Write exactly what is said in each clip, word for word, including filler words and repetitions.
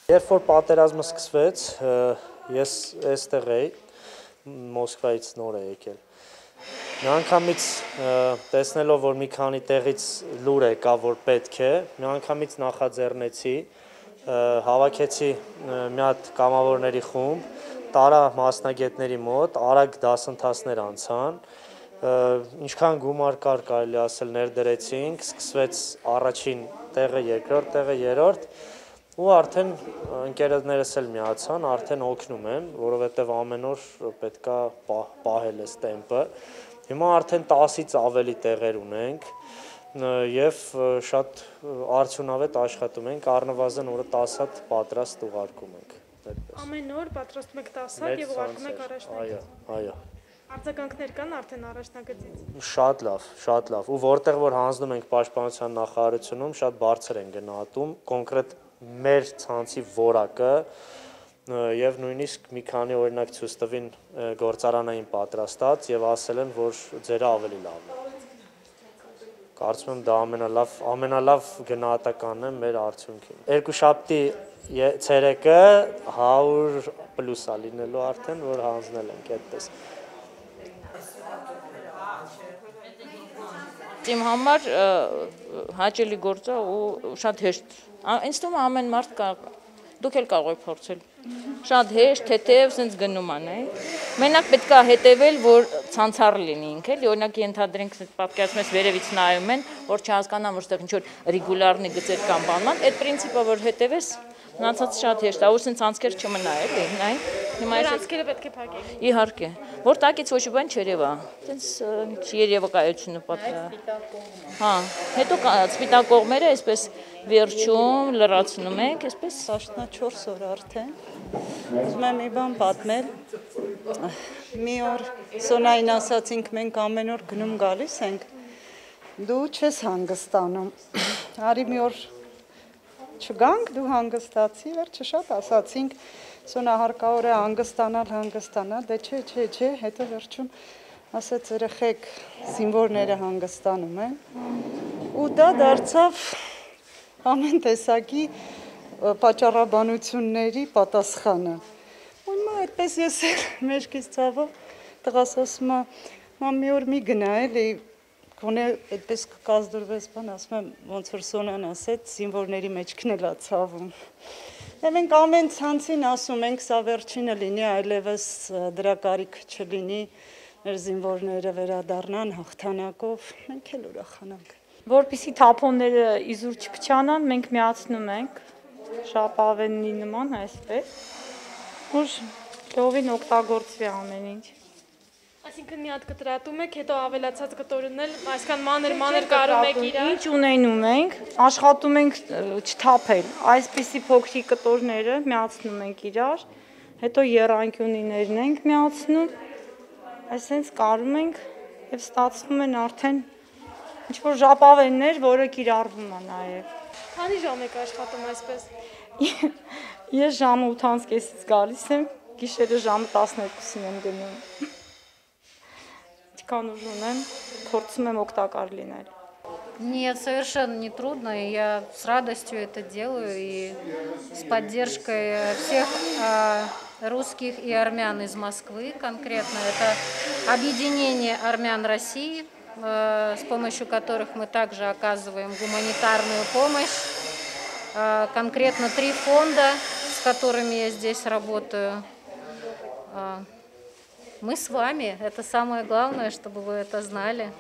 Երբ որ պատերազմը սկսվեց, ես այստեղ էի, Մոսկվայից նոր է եկել։ Մի անգամից տեսնելով, որ մի քանի տեղից լուր եկա, որ պետք է, մի անգամից նախաձեռնեցի, հավաքեցի մի հատ կամավորների խումբ, տարա մասնագետների մոտ, արագ դասընթացներ անցան, ինչքան գումար կար կարելի ասել ներդրեցինք, սկսվեց առաջին տեղը, երկրորդ տեղը, երրորդ, ու արդեն ընկերներս էլ միացան, արդեն օգնում են, որովհետև ամեն օր պետքա պահել էս տեմպը։ Հիմա արդեն տասից ավելի տեղեր ունենք եւ շատ արդյունավետ աշխատում ենք, առնվազն օրը տասը հատ պատրաստ ուղարկում ենք։ Ամեն օր պատրաստում եք տասը հատ եւ ուղարկում եք առաջնակից։ Այո, այո։ Արձագանքներ կան արդեն առաջնագծից։ Շատ լավ, շատ լավ։ Ու որտեղ որ հանձնում ենք պաշտպանության նախարարությունում, շատ բարձր են գնահատում, կոնկրետ մեր ցանցի որակը եւ նույնիսկ մի քանի օրինակ ցույց տվին գործարանային պատրաստած եւ ասել են, որ ձերը ավելի լավն է։ Կարծում եմ դա ամենալավ, ամենալավ գնահատականն է մեր արդյունքին։ Երկուշաբթի ցերեկը հարյուր պլյուս է լինելու արդեն, որ հանձնել ենք այդպես։ Իմ համար հաճելի գործ է ու շատ հեշտ։ Ինձ թվում է ամեն մարդ կարող, դուք էլ կարող եք փորձել։ Շատ հեշտ, թեթև, սենց գնում ան, է։ Մենակ պետք է հետևել, որ ցանցառ լինի ինքը, էլի, օրինակ ենթադրենք պատկերացնում ես վերևից նայում են, որ չհասկանան, որ ստեղ ինչ որ ռեգուլարնի գծեր կամ բանման, այդ պրինցիպը որ հետևես, մնացած շատ հեշտ է, ու սենց անցքեր չմնա, էլի, նայ։ Հիմա անցքերը պետք է փակեք։ Իհարկե, որ տակից ոչ բան չերևա, սենց երևակայությունը պատկա։ Հա, հետո սպիտակ կողմերը այսպես վերջում լրացնում ենք, այսպես տասնչորս օր արդեն։ Ուզում եմ մի բան պատմել։ Մի օր Սոնային ասացինք, մենք ամեն օր գնում գալիս ենք, դու չես հանգստանում։ Արի մի օր չգանք, դու հանգստացի, վերջը շատ ասացինք, Սոնա հարկավոր է հանգստանալ, հանգստանալ, դե չէ, չէ, չէ, հետո վերջում ասաց երեխեք զինվորները հանգստանում են, ու դա դարձավ ամեն տեսակի պատճառաբանությունների պատասխանը։ Ու հիմա այդպես ես էլ մեջքից ցավով տղաս ասում է, մամ մի օր մի գնա էլի, գոնե այդպես կկազդուրվես բան, ասում եմ ոնց որ Սոնան ասեց, զինվորների մեջքն էլ է ցավում։ Եվ մենք ամեն ցանցին ասում ենք, սա վերջինը լինի, այլևս դրա կարիք չլինի, մեր զինվորները վերադառնան հաղթանակով, մենք էլ ուրախանանք։ Որպեսզի թափոնները իզուր չփչանան, մենք միացնում ենք շապավենի նման այսպես, որ լովին օգտագործվի ամեն ինչ։ Այսինքն մի հատ կտրատում եք, հետո ավելացած կտորն էլ այսքան մանր մանր կարում եք իրար։ Ինչ ունենում ենք, աշխատում ենք չթափել, այսպիսի փոքրիկ կտորները միացնում ենք իրար, հետո եռանկյունիներն ենք միացնում, այսպես կարում ենք եւ ստացվում են արդեն ինչ որ ժապավեններ, որը կիրառվում է նաեւ։ Քանի ժամ եք աշխատում այսպես։ Ես ժամը ութ կեսից գալիս եմ, գիշերը ժամը տասներկուսին եմ գնում։ Ինչքան ուժ ունեմ, փորձում եմ օգտակար լինել։ Нет, совершенно не трудно, я с радостью это делаю и с поддержкой всех э, русских и армян из Москвы конкретно. Это объединение армян России, э, с помощью которых мы также оказываем гуманитарную помощь. Э, конкретно три фонда, с которыми я здесь работаю. Э, мы с вами, это самое главное, чтобы вы это знали.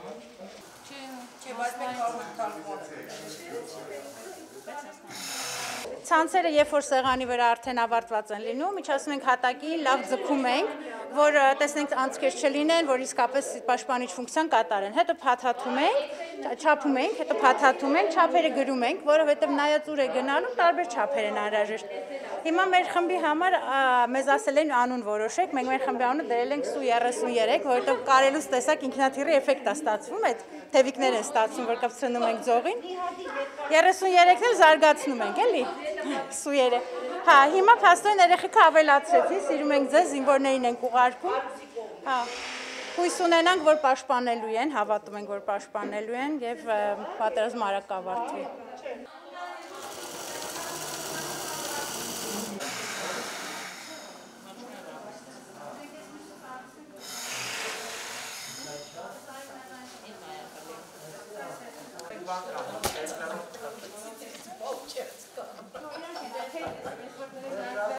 Ցանցերը երբ որ սեղանի վրա արդեն ավարտված են լինում, միջացնում ենք հատակին, լավ ձգում ենք, որ տեսնենք անցքեր չլինեն, որ իսկապես պաշտպանիչ ֆունկցիան կատարեն։ Հետո փաթաթում ենք, չափում ենք, հետո փաթաթում ենք, չափերը գրում ենք, որովհետև նայած ուր է գնալու, տարբեր չափեր են անհրաժեշտ։ Հիմա մեր խմբի համար մեզ ասել են անուն որոշեք, մենք մեր խմբի անունը դրել ենք Սու երեսուններեք, որովհետև կարելուց տեսակ ինքնաթիռի էֆեկտ է ստացվում, այդ թևիկներ են ստացվում, որ կպցնում ենք ձողին։ երեսուններեքն էլ զարգացնում ենք, էլի։ Սույերը։ Հա, հիմա փաստորեն երեխեքը ավելացրեցին, սիրում ենք ձեզ, զինվորներին ենք ուղարկում։ Հա։ Հույս ունենանք, որ պաշտպանելու են, հավատում ենք, որ պաշտպանելու են եւ պատերազմը արագ կավարտվի։